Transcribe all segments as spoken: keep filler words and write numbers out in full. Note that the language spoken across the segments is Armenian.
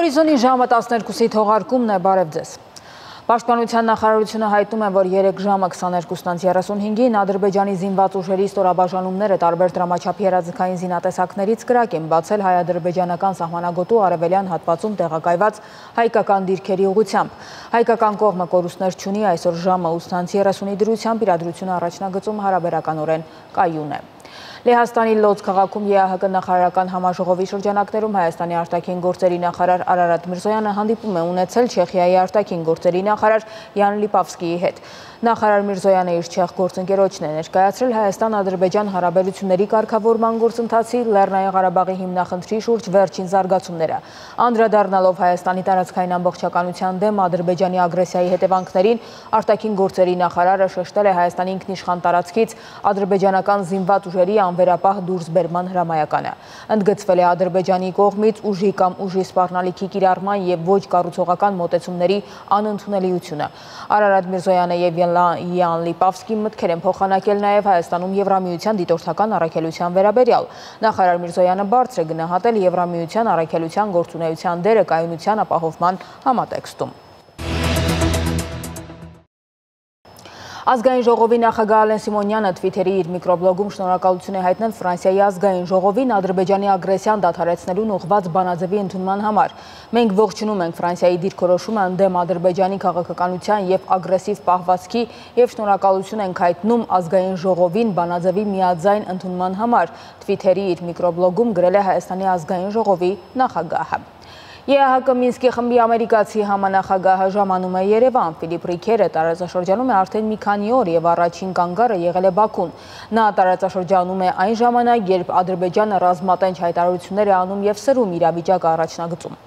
Հորիզոնի ժամը տասներկուսի թողարկումն է, բարև ձեզ։ Պաշտպանության նախարարությունը հայտնում է, որ երեք ժամը քսաներկուսից երեսունհինգին Ադրբեջանի զինված ուժերի ստորաբաժանումները տարբեր դրամաչափի հրաձգային զինատեսակներից կրակ են բացել հայ-ադրբեջանական սահմանագոտու արևելյան հատվածում տեղակայված հայկական դիրքերի ուղղությամբ։ Հայկական կողմը կորուստներ չունի, այսօր ժամը ութից երեսունի դրությամբ իրադրությունը առաջնագծում հարաբերականորեն կայուն է։ Լեհաստանի Լոձ քաղաքում ԵԱՀԿ նախարարական համաժողովի շրջանակներում Հայաստանի արտաքին գործերի նախարար Արարատ Միրզոյանը հանդիպում է ունեցել Չեխիայի արտաքին գործերի նախարար Յան Լիպավսկիի հետ։ Նախարար Միրզոյանը իր չեխ գործընկերոջն է ներկայացրել Հայաստան-Ադրբեջան հարաբերությունների կարգավորման գործընթացի, Լեռնային Ղարաբաղի հիմնախնդրի շուրջ վերջին զարգացումները։ Անդրադառնալով Հայաստանի տարածքային ամբողջականության դեմ Ադրբեջանի ագրեսիայի հետևանքներին, արտաքին գործերի նախարարը շեշտել է Հայաստանի ինքնիշխան տարածքից ադրբեջանական զինված ուժերի անվերապահ դուրսբերման հրամայականը։ Ընդգծվել է Ադրբեջանի կողմից ուժի կամ ուժի սպառնալիքի կիրառման եւ ոչ կառուցողական մոտեցումների անընդունելիությունը։ Արարատ Միրզոյանը եւ Յան Լիպավսկին մտքեր են փոխանակել նաեւ Հայաստանում Եվրամիության դիտորդական առաքելության վերաբերյալ։ Նախարար Միրզոյանը բարձր է գնահատել Եվրամիության առաքելության գործունեության դերը կայունության ապահովման համատեքստում։ Ազգային ժողովի նախագահ Ալեն Սիմոնյանը Թվիթերի իր միկրոբլոգում շնորհակալություն է հայտնել Ֆրանսիայի ազգային ժողովին Ադրբեջանի ագրեսիան դադարեցնելուն ուղղված բանաձևի ընդունման համար։ Մենք ողջունում ենք Ֆրանսիայի դիրքորոշումը ընդդեմ Ադրբեջանի քաղաքականության եւ ագրեսիվ պահվածքի եւ շնորհակալություն ենք հայտնում ազգային ժողովին բանաձևի միաձայն ընդունման համար, Թվիթերի իր միկրոբլոգում գրել է Հայաստանի ազգային ժողովի նախագահը։ ԵԱՀԿ Մինսկի խմբի ամերիկացի համանախագահը ժամանում է Երևան։ Ֆիլիպ Ռիքերը տարածաշրջանում է արդեն մի քանի օր եւ առաջին կանգառը եղել է Բաքուն։ Նա տարածաշրջանում է այն ժամանակ, երբ Ադրբեջանը ռազմատենչ հայտարարություններ է անում եւ սրում իրավիճակը առաջնագծում։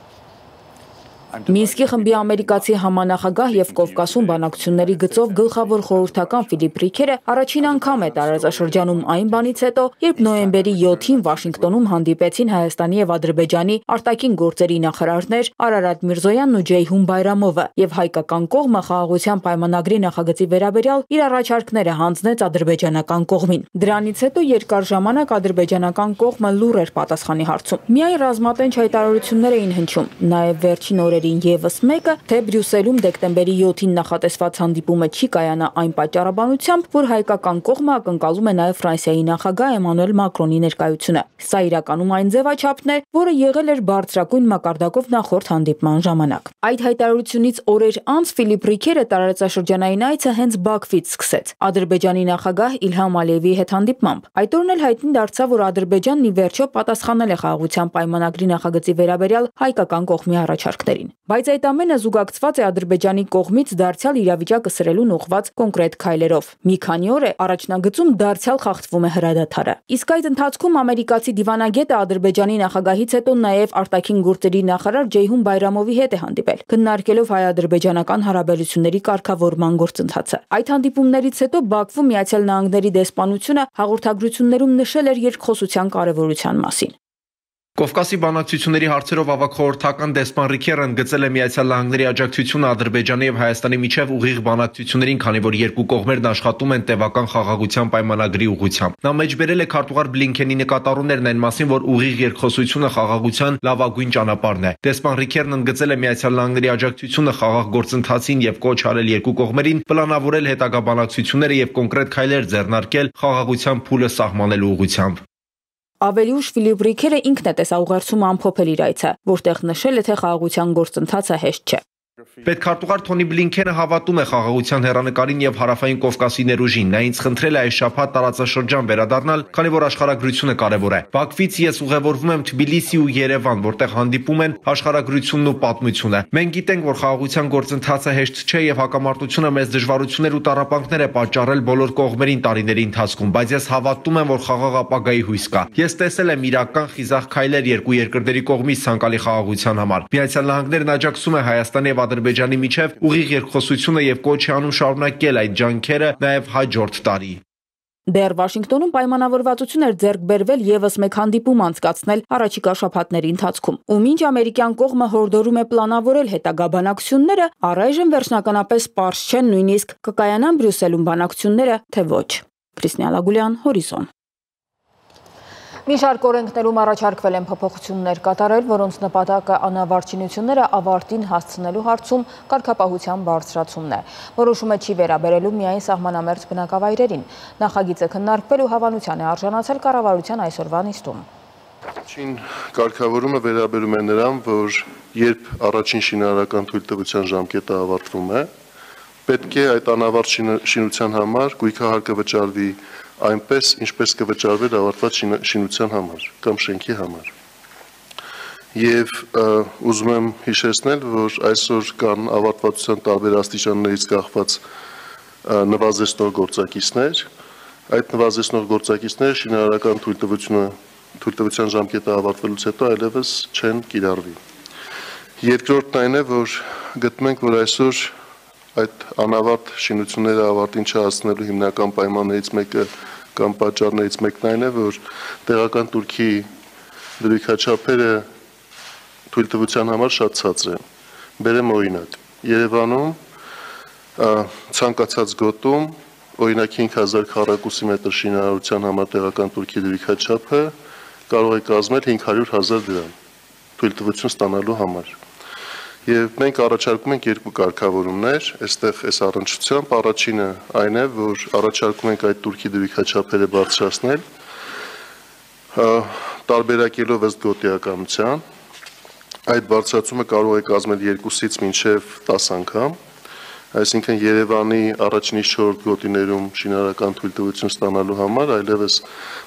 Մինսկի խմբի ամերիկացի համանախագահ եւ Կովկասում բանակցությունների գծով գլխավոր խորհրդական Ֆիլիպ Ռիքերը առաջին անգամ է տարածաշրջանում այն բանից հետո, երբ նոյեմբերի յոթին Վաշինգտոնում հանդիպեցին Հայաստանի եւ Ադրբեջանի արտաքին գործերի նախարարներ Արարատ Միրզոյանն ու Ջեյհուն Բայրամովը եւ հայկական կողմը խաղաղության պայմանագրի նախագծի վերաբերյալ իր առաջարկները հանձնեց ադրբեջանական կողմին։ Դրանից հետո երկար ժամանակ ադրբեջանական կողմը լուռ էր պատասխանի հարցում։ Միայն ռազմատենչ հայտարարություններ էին հնչում, նաեւ վերջին օրերին Եվս մեկը, թե Բրյուսելում դեկտեմբերի յոթին նախատեսված հանդիպումը չի կայանա այն պատճառաբանությամբ, որ հայկական կողմը ակնկալում է նաև Ֆրանսիայի նախագահ Էմանուել Մակրոնի ներկայությունը։ Սա իրականում այն ձևաչափն է, որը եղել էր բարձրագույն մակարդակով նախորդ հանդիպման ժամանակ։ Այդ հայտարարությունից օրեր անց Ֆիլիպ Ռիքերը տարածաշրջանային այցը հենց Բաքվից սկսեց Ադրբեջանի նախագահ Իլհամ Ալիևի հետ հանդիպմամբ։ Այդ օրն էլ հայտնի դարձավ, որ Ադրբեջանն ի վերջո պատասխանել է խաղաղության պայմանագրի նախագծի վերաբերյալ հայկական կողմի առաջարկներին։ Բայց այդ ամենը զուգակցված է Ադրբեջանի կողմից դարձյալ իրավիճակը սրելուն ուղղված կոնկրետ քայլերով։ Մի քանի օր է առաջնագծում դարձյալ խախտվում է հրադադարը։ Իսկ այդ ընթացքում ամերիկացի դիվանագետը Ադրբեջանի նախագահից հետո նաև արտաքին գործերի նախարար Ջեյհուն Բայրամովի հետ է հանդիպել, քննարկելով հայ-ադրբեջանական հարաբերությունների կարգավորման գործընթացը։ Այդ հանդիպումներից հետո Բաքվում Միացյալ Նահանգների դեսպանությունը հաղորդագրություններում նշել էր երկխոսության կարևորության մասին։ Կովկասի բանակցությունների հարցերով ավագ խորհրդական դեսպան Ռիքերը ընդգծել է Միացյալ Նահանգների աջակցությունը Ադրբեջանի եւ Հայաստանի միջև ուղիղ բանակցություններին, քանի որ երկու կողմերն աշխատում են տևական խաղաղության պայմանագրի ուղղությամբ։ Նա մեջբերել է քարտուղար Բլինքենի նկատառումներն այն մասին, որ ուղիղ երկխոսությունը խաղաղության լավագույն ճանապարհն է։ Դեսպան Ռիքերն ընդգծել է Միացյալ Նահանգների աջակցությունը խաղաղ գործընթացին եւ կոչ արել երկու կողմերին պլանավորել հետագա բանակցությունները եւ կոնկրետ քայլեր ձեռնարկել խաղաղության փուլը սահմանելու ուղղությամբ։ Ավելի ուշ Ֆիլիպ Ռիքերը ինքն է տեսաուղերձում ամփոփել իր այցը, որտեղ նշել է, թե խաղաղության գործընթացը հեշտ չէ։ Պետքարտուղար Թոնի Բլինքենը հավատում է խաղաղության հեռանկարին եւ հարավային Կովկասի ներուժին։ Նա ինձ խնդրել է այս շաբաթ տարածաշրջան վերադառնալ, քանի որ աշխարհագրությունը կարևոր է։ Բաքվից ես ուղևորվում եմ Թբիլիսի ու Երևան, որտեղ հանդիպում են աշխարհագրությունն ու պատմությունը։ Մենք գիտենք, որ խաղաղության գործընթացը հեշտ չէ եւ հակամարտությունը մեծ դժվարություններ ու տառապանքներ է պատճառել բոլոր կողմերին տարիների ընթացքում, բայց ես հավատում եմ, որ խաղաղ ապագայի հույս կա։ Ես տեսել եմ իրական խիզախ քայլեր երկու երկրների կողմից ցանկալի խաղաղության համար։ Միացյալ Նահանգներն աջակցում է Հայաստանի եւ Ադրբեջանի միջև ուղիղ երկխոսությունը եւ կոչ է անում շարունակել այդ ջանքերը նաեւ հաջորդ տարի։ Դեռ Վաշինգտոնում պայմանավորվածություն էր ձեռք բերվել եւս մեկ հանդիպում անցկացնել առաջիկա շաբաթների ընթացքում։ Ու մինչ ամերիկյան կողմը հորդորում է պլանավորել հետագա բանակցությունները, առայժմ վերջնականապես պարզ չեն նույնիսկ կկայանան Բրյուսելում բանակցությունները, թե ոչ։ Քրիստիան Լագուլյան, Հորիզոն։ Մի շարք օրենքներում առաջարկվել են փոփոխություններ կատարել, որոնց նպատակը անավարտ շինությունները ավարտին հասցնելու հարցում կարգապահության բարձրացումն է։ Որոշումը չի վերաբերելու միայն սահմանամերձ բնակավայրերին։ Նախագիծը քննարկվել ու հավանության է արժանացել կառավարության այսօրվա նիստում։ Առաջին կարգավորումը վերաբերում է նրան, որ երբ առաջին շինարարական թույլտվության ժամկետը ավարտվում է, պետք է այդ անավարտ շինության համար գույքահարկը վճարվի այնպես, ինչպես կվճարվեր ավարտված շինության համար կամ շենքի համար։ Եվ ուզում եմ հիշեցնել, որ այսօր կան ավարտվածության տարբեր աստիճաններից կախված նվազեցնող գործակիցներ, այդ նվազեցնող գործակիցները շինարարական թույլտվությունը թույլտվության ժամկետը ավարտվելուց հետո այլևս չեն կիրառվի։ Երկրորդն այն է, որ գտնում ենք, որ այսօր այդ անավարտ շինությունները ավարտին չհասցնելու հիմնական պայմաններից մեկը կամ պատճառներից մեկն այն է, որ տեղական Թուրքի դրույքաչափերը թույլտվության համար շատ ցածր են։ Բերեմ օրինակ, Երևանում ցանկացած գոտում օրինակ հինգ հազար քառակուսի մետր շինարարության համար տեղական Թուրքի դրույքաչափը կարող է կազմել հինգ հարյուր հազար դրամ թույլտվություն ստանալու համար։ Եվ մենք առաջարկում ենք երկու կարգավորումներ, այստեղ այս առնչությամբ առաջինը այն է, որ առաջարկում ենք այդ Թուրքի դրույքաչափերը բարձրացնել, տարբերակելով ըստ գոտիականության, այդ բարձրացումը կարող է կազմել երկուսից մինչև տասը անգամ, այսինքն Երևանի առաջին չորրորդ գոտիներում շինարարական թույլտվություն ստանալու համար այլևս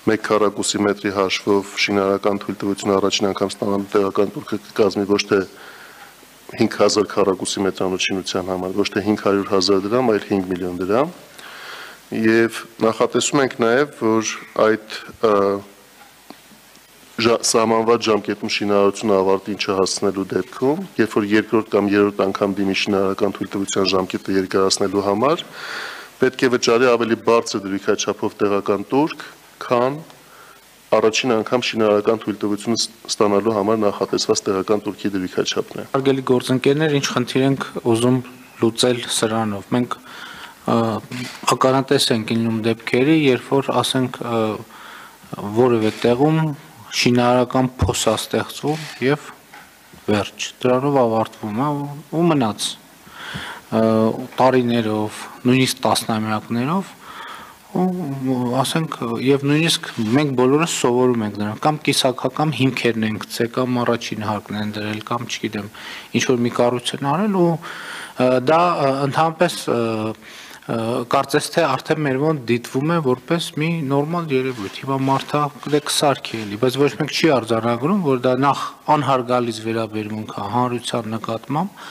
մեկ քառակուսի մետրի հաշվով շինարարական թույլտվություն առաջին անգամ ստանալու տեղական Թուրքը կկազմի ոչ թե հինգ հազար քառակուսի մետրանոց շինության համար, ոչ թե հինգ հարյուր հազար դրամ, այլ հինգ միլիոն դրամ։ Եվ նախատեսում ենք նաև, որ այդ սահմանված ժամկետում շինարարությունը ավարտին չհասցնելու դեպքում, երբ որ երկրորդ կամ երրորդ անգամ դիմի շինարարական թույլտվության ժամկետը երկարացնելու համար, պետք է վճարի ավելի բարձր դրույքաչափով տեղական Թուրք, քան առաջին անգամ շինարարական թույլտվություն ստանալու համար նախատեսված տեղական Թուրքի դրույքաչափն է։ Հարգելի գործընկերներ, ինչ խնդիր ենք ուզում լուծել սրանով։ Մենք ականատես ենք լինում դեպքերի, երբ որ ասենք որևէ տեղում շինարարական փոս է ստեղծվում եւ վերջ, դրանով ավարտվում է ու մնաց տարիներով, նույնիսկ տասնամյակներով ու ասենք եւ նույնիսկ մենք բոլորս սովորում ենք նրան կամ կիսակական հիմքերն են գցել կամ առաջին հարկն են դրել կամ չգիտեմ ինչ որ մի կառույց են արել ու դա ընդհանրապես կարծես թե արդեն մեր մոտ դիտվում է որպես մի նորմալ երևույթ։ Հիմա մարդը դե կսարքի էլի, բայց ոչ մեկ չի արձանագրում, որ դա նախ անհարգալից վերաբերմունք է հանրության նկատմամբ,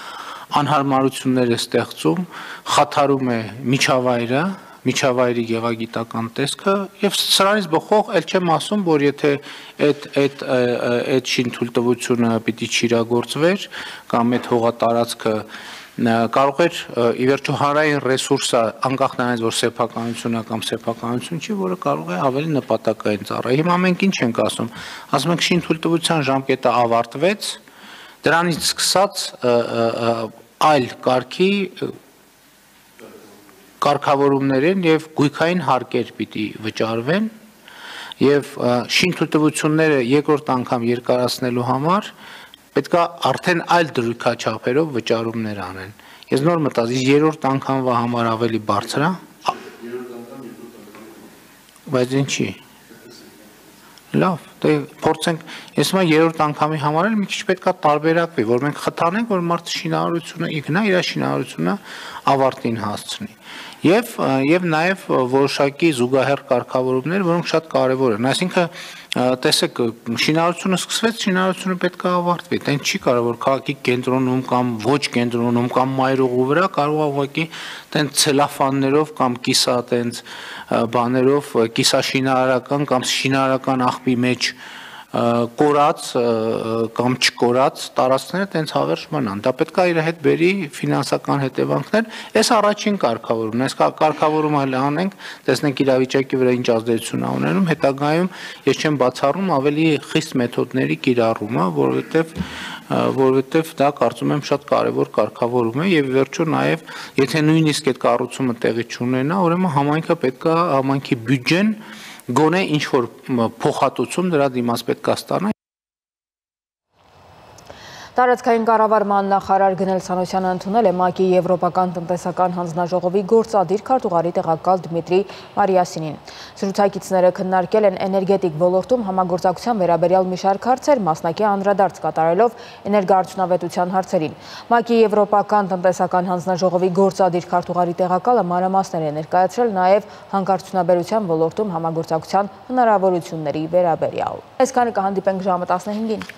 անհարմարություններ է ստեղծում, խաթարում է միջավայրը, միջավայրի գեղագիտական տեսքը եւ սրանից բխող ել չեմ ասում, որ եթե այդ այդ այդ շինթույլտվությունը պիտի չիրագործվեր կամ այդ հողատարածքը կարող էր ի վերջո հանրային ռեսուրսը անկախ նրանից որ սեփականություն է կամ սեփականություն չի, որը կարող է ավելի նպատակային ծառայել։ Հիմա մենք ինչ ենք ասում, ասում ենք շինթույլտվության ժամկետը ավարտվեց, դրանից սկսած այլ կարգի կարգավորումներին եւ գույքային հարկեր պիտի վճարվեն եւ շինթույլտվությունները երկրորդ անգամ երկարացնելու համար պետք է արդեն այլ դրույքաչափերով վճարումներ անեն։ Ես նոր մտածի երրորդ անգամվա համար ավելի բարձր է։ Բայց ինչի։ Լավ, դե փորձենք, ես հիմա երրորդ անգամի համար էլ մի քիչ պետք է տարբերակվի, որ մենք խթանենք, որ մարդը շինարարությունը իգնա իր շինարարությունը ավարտին հասցնի։ Եվ եւ նաեւ որոշակի զուգահեռ կարգավորումներ, որոնք շատ կարեւոր են։ Այսինքն, տեսեք, շինարարությունը սկսվեց, շինարարությունը պետք է ավարտվի։ Դա չի կարող որ քաղաքի կենտրոնում կամ ոչ կենտրոնում կամ մայրուղու վրա կարող է ուղղակի տենց ցելոֆաններով կամ կիսա տենց բաներով կիսաշինարարական կամ շինարարական աղբի մեջ կորած կամ չկորած տարածքները տենց հավերժ մնան։ Դա պետք է իր հետ բերի ֆինանսական հետևանքներ։ Այս առաջին կարգավորումն է, այս կարգավորումը հələ անենք, տեսնենք իրավիճակի վրա ինչ ազդեցություն է ունենում, հետագայում ես չեմ բացառում ավելի խիստ մեթոդների կիրառումը, որովհետև որովհետև դա կարծում եմ շատ կարևոր կարգավորում է եւ վերջո նաեւ եթե նույնիսկ այդ կառուցումը տեղի չունենա, ուրեմն համայնքը պետք է համայնքի բյուջեն գոնե ինչ որ փոխհատուցում դրա դիմաց պետք է ստանա։ Տարածքային կառավարման նախարար Գնել Սանոսյանը ընդունել է ՄԱԿ-ի Եվրոպական տնտեսական հանձնաժողովի գործադիր քարտուղարի տեղակալ Դմիտրի Մարիասինին։ Զրուցակիցները քննարկել են էներգետիկ ոլորտում համագործակցության վերաբերյալ մի շարք հարցեր, մասնակի անդրադարձ կատարելով էներգոարդյունավետության հարցերին։ ՄԱԿ-ի Եվրոպական տնտեսական հանձնաժողովի գործադիր քարտուղարի տեղակալը մանրամասներ է ներկայացրել նաև հանքարդյունաբերության ոլորտում համագործակցության հնարավորությունների վերաբերյալ։ Այսքանը կհանդիպենք ժամը տասնհինգին։